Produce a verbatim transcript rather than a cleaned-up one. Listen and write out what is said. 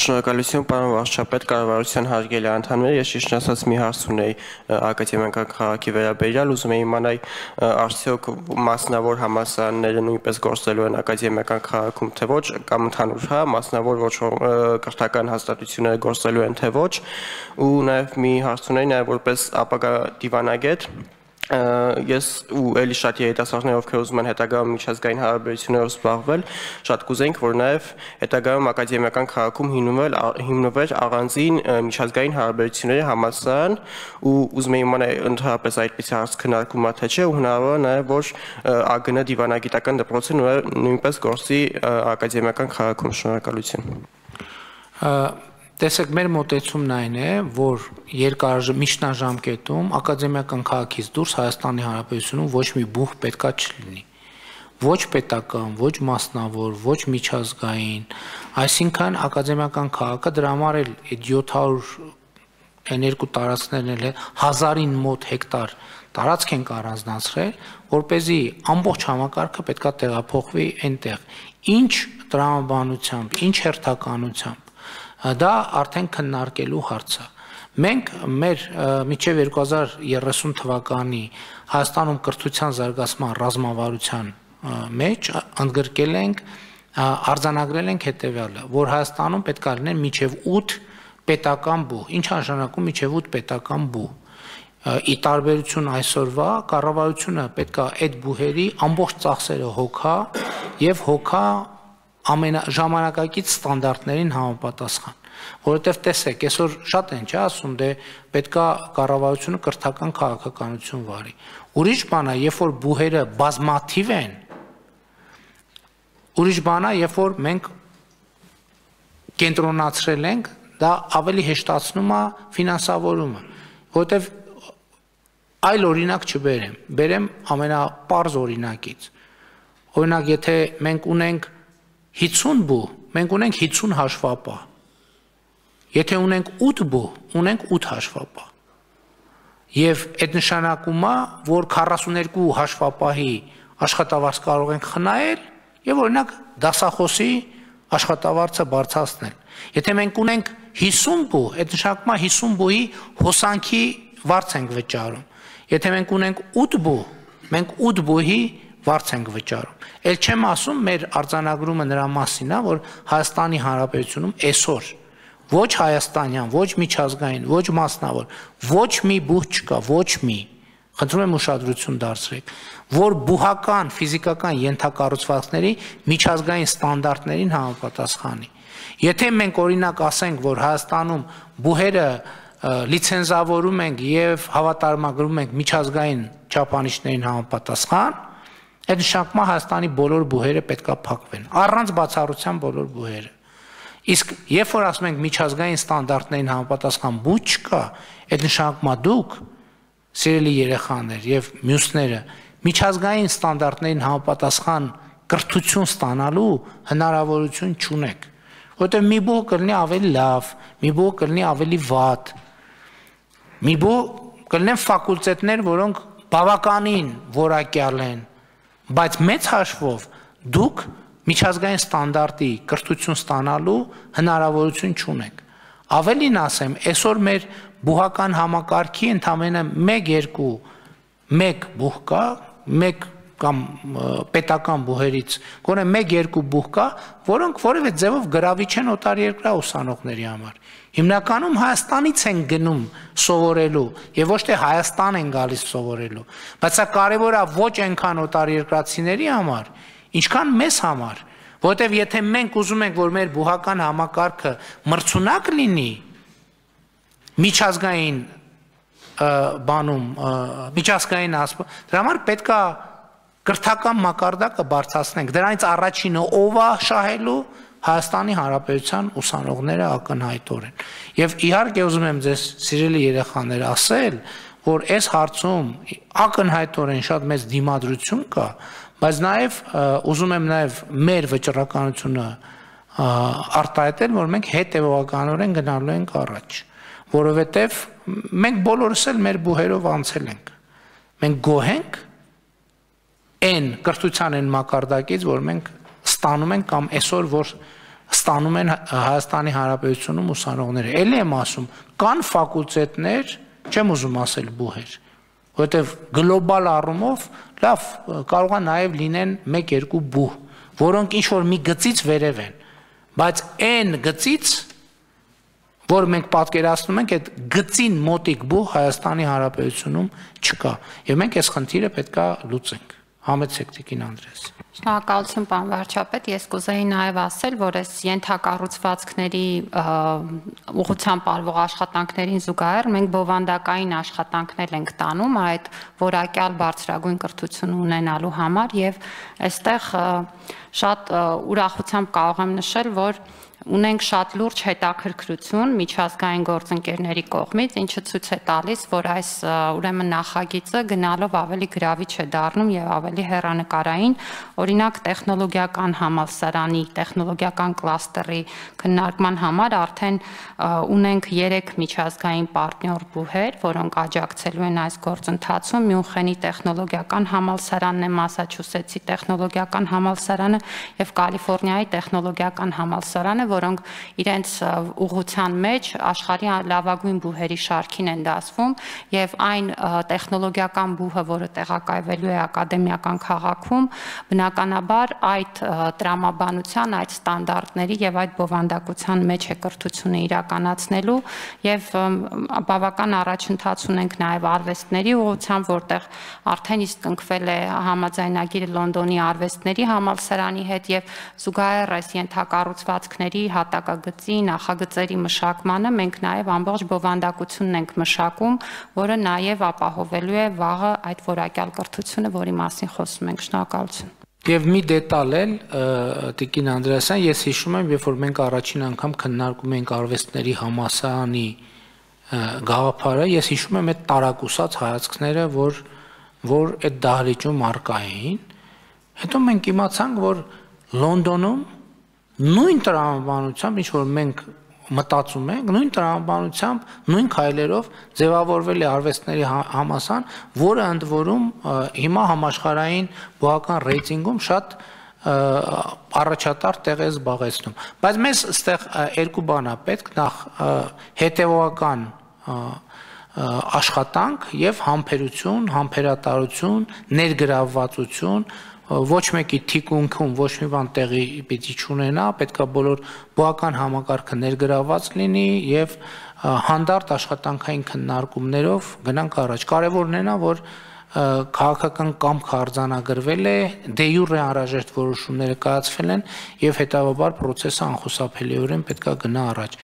Շնորհակալություն, պարոն վարչապետ, կառավարության հարգելի անդամներ, ես ճիշտ ասած մի հարց ունեի ակադեմիական քաղաքի վերաբերյալ, ուզում եի իմանալ արդյոք մասնավոր համալսարանները նույնպես գործելու են ակադեմիական քաղաքում, թե ոչ, կամ ընդհանուր հա, մասնավոր ոչ կրթական հաստատությունները գործելու են, թե ոչ, ու նաև մի հարց ունեի, նաև որպես ապագա դիվանագետ, ես ու էլի շատ երիտասարդներ, ովքեր ուզում են հետագայում միջազգային հարաբերություններով զբաղվել, շատ կուզենք, որ նաև հետագայում ակադեմիական քաղաքում հիմնվեր առանձին միջազգային հարաբերությունների համալսարան, ու ուզում եմ իմանալ ընդհանրապես այդպիսի հարց քննարկվում է թե չէ, ու հնարավոր է նաև որ ԱԳՆ դիվանագիտական դպրոցը նույնպես գործի ակադեմիական քաղաքում։ Շնորհակալություն։ Տեսեք, մեր մոտեցումն այն է, որ երկար միջնաժամկետում ակադեմիական քաղաքից դուրս Հայաստանի Հանրապետությունում ոչ մի բուհ պետքա չլինի։ Ոչ պետական, ոչ մասնավոր, ոչ միջազգային, այսինքն ակադեմիական քաղաքը դրա համար էլ յոթ հարյուր երկու տարածքներն էլ հազարին մոտ հեկտար տարածք ենք առանձնացրել, որպեսզի ամբողջ համակարգը պետքա տեղափոխվի այնտեղ։ Ինչ տրամաբանությամբ, ինչ հերթականությամբ դա արդեն քննարկելու հարց է։ Մենք մեր մինչև երկու հազար երեսուն թվականի Հայաստանում կրթության զարգացման ռազմավարության մեջ ընդգրկել ենք, արձանագրել ենք հետևյալը, որ Հայաստանում պետք է լինեն մինչև ութ պետական բուհ։ Ինչ նշանակում մինչև ութ պետական բուհ։ Ի տարբերություն այսօրվա, կառավարությունը պետք է այդ բուհերի ամբողջ ծախսերը հոգա եւ հոգա ամենաժամանակակից ստանդարտներին համապատասխան, որովհետև տեսեք, այսօր շատ են չէ ասում, դե պետքա կառավարությունը կրթական քաղաքականություն վարի։ Ուրիշ բան է, երբ որ բուհերը բազմաթիվ են, ուրիշ բան է, երբ որ մենք կենտրոնացրել ենք, դա ավելի հեշտացնում է ֆինանսավորումը, որովհետև այլ օրինակ չբերեմ, բերեմ ամենապարզ օրինակից։ Օրինակ, եթե մենք ունենք հիսուն բուհ, մենք ունենք հիսուն հաշվապահ։ Եթե ունենք ութ բուհ, ունենք ութ հաշվապահ։ Եվ այդ նշանակում է, որ քառասուններկու հաշվապահի աշխատավարձ կարող ենք խնայել եւ օրինակ դասախոսի աշխատավարձը բարձրացնել։ Եթե մենք ունենք հիսուն բուհ, այդ նշանակում է հիսուն բուհի հոսանքի վարձ ենք վճարում։ Եթե մենք ունենք ութ բուհ, մենք ութ բուհի վարձ ենք վճարում։ Էլ չեմ ասում, մեր արձանագրումը նրա մասին է, որ Հայաստանի Հանրապետությունում այսօր ոչ հայաստանյան, ոչ միջազգային, ոչ մասնավոր, ոչ մի բուհ չկա, ոչ մի, խնդրում եմ ուշադրություն դարձրեք, որ բուհական ֆիզիկական ենթակառուցվածքների միջազգային ստանդարտներին համապատասխանի։ Եթե մենք օրինակ ասենք, որ Հայաստանում բուհերը լիցենզավորում ենք եւ հավատարմագրում ենք միջազգային չափանիշներին համապատասխան, այդ նշանակում է Հայաստանի բոլոր բուհերը պետքա փակվեն, առանց բացառության բոլոր բուհերը։ Իսկ երբ որ ասում ենք միջազգային ստանդարտներին համապատասխան բուհ չկա, այդ նշանակում է դուք, սիրելի երեխաներ եւ մյուսները, միջազգային ստանդարտներին համապատասխան կրթություն ստանալու հնարավորություն չունեք, որովհետեւ մի բուհ կլինի ավելի լավ, մի բուհ կլինի ավելի վատ, մի բուհ կլինեն ֆակուլտետներ, որոնք բավականին որակյալ են, բայց մեծ հաշվով դուք միջազգային ստանդարտի կրթություն ստանալու հնարավորություն չունեք։ Ավելին ասեմ, այսօր մեր բուհական համակարգի ընդամենը մեկ երկու մեկ բուհ կա, մեկ կամ պետական բուհերից, գոնե մեկ երկու բուհ կա, որոնք որևէ ձևով գրավիչ են օտարերկրյա ուսանողների համար։ Հիմնականում Հայաստանից են գնում սովորելու եւ ոչ թե Հայաստան են գալիս սովորելու, բայց սա կարեւոր է ոչ այնքան օտարերկրացիների համար, ինչքան մեզ համար, որովհետեւ եթե մենք ուզում ենք, որ մեր բուհական համակարգը մրցունակ լինի միջազգային բանում, միջազգային ասպ, դրա համար պետք է կրթական մակարդակը բարձրացնենք, դրանից առաջինը ով է շահելու Հայաստանի Հանրապետության ուսանողները ակնհայտորեն։ Եվ իհարկե ուզում եմ ձեզ սիրելի երեխաներ ասել, որ այս հարցում ակնհայտորեն շատ մեծ դիմադրություն կա, բայց նաև ուզում եմ նաև մեր վճռականությունը արտահայտել, որ մենք հետևողականորեն գնալու ենք առաջ, որովհետև մենք բոլորս էլ մեր բուհերով անցել ենք։ Մենք գոհ ենք այն կրթության այն մակարդակից, որ մենք ստանում ենք կամ այսօր որ ստանում են Հայաստանի Հանրապետությունում ուսանողները։ Էլի եմ ասում, կան ֆակուլտետներ, չեմ ուզում ասել բուհեր, որովհետև գլոբալ առումով լավ կարող է նաև լինեն մեկ-երկու բուհ, որոնք ինչ-որ մի գծից վերև են, բայց այն գծից, որ մենք պատկերացնում ենք, այդ գծին մոտիկ բուհ Հայաստանի Հանրապետությունում չկա, եւ մենք այս խնդիրը պետք է լուծենք։ Համեցեք Տիկին Անդրեաս։ Շնորհակալություն, պարոն վարչապետ, ես կուզեի նաև ասել, որ այս ենթակառուցվածքների ուղղությամբ արվող աշխատանքներին զուգահեռ մենք բովանդակային աշխատանքներ ենք տանում այդ որակյալ բարձրագույն կրթություն ունենալու համար եւ այստեղ շատ ուրախությամբ կարող եմ նշել, որ ունենք շատ լուրջ հետաքրքրություն միջազգային գործընկերների կողմից, ինչը ցույց է տալիս, որ այս ուրեմն նախագիծը գնալով ավելի գրավիչ է դառնում եւ ավելի հեռանկարային, օրինակ տեխնոլոգիական համալսարանի, տեխնոլոգիական կլաստերի քննարկման համար արդեն ունենք երեք միջազգային պարտներ բուհեր, որոնք աջակցելու են այս գործընթացում, Մյունխենի տեխնոլոգիական համալսարանն է, Մասաչուսեթսի տեխնոլոգիական համալսարանը եւ Կալիֆոռնիայի տեխնոլոգիական համալսարանը, որոնք իրենց ուղղության մեջ աշխարհի լավագույն բուհերի շարքին են դասվում եւ այն տեխնոլոգիական բուհը, որը տեղակայվելու է ակադեմիական քաղաքում, բնականաբար այդ տրամաբանության, այդ ստանդարտների եւ այդ բովանդակության մեջ է կրթությունը իրականացնելու եւ բավական առաջընթաց ունենք նաեւ արվեստների ուղղությամբ, որտեղ արդեն իսկ կնքվել է համաձայնագիրը Լոնդոնի արվեստների համալսարանի հետ եւ զուգահեռ այս ենթակառուցվածքների հատակագծի նախագծերի մշակմանը մենք նաև ամբողջ բովանդակությունն ենք մշակում, որը նաև ապահովելու է վաղը այդ որակյալ կրթությունը, որի մասին խոսում ենք։ Շնորհակալություն։ Եվ մի դետալ էլ Տիկին Անդրեասյան, ես հիշում եմ, երբ որ մենք առաջին անգամ քննարկում էինք արվեստների համալսարանի գաղափարը, ես հիշում եմ այդ տարակուսած հայացքները, որ որ այդ դահլիճում առկա էին, հետո մենք իմացանք, որ Լոնդոնում նույն տրամաբանությամբ, ինչ որ մենք մտածում ենք, նույն տրամաբանությամբ, նույն քայլերով ձևավորվել է արվեստների համալսարան, որը ընդ որում հիմա համաշխարհային բուհական ռեյտինգում շատ առաջատար տեղ է զբաղեցնում։ Բայց մեզ այստեղ երկու բան է պետք, նախ հետևողական աշխատանք եւ համբերություն, համբերատարություն, ներգրավվածություն, ոչ մեկի թիկունքում ոչ մի բան տեղի պիտի չունենա, պետքա բոլոր բուհական համակարգը ներգրավված լինի եւ հանդարտ աշխատանքային քննարկումներով գնանք առաջ։ Կարևորն է նա, որ քաղաքական կամքը արձանագրվել է, դե յուրե անհրաժեշտ որոշումները կայացվել են եւ հետագայում process-ը անխուսափելիորեն պետքա գնա առաջ։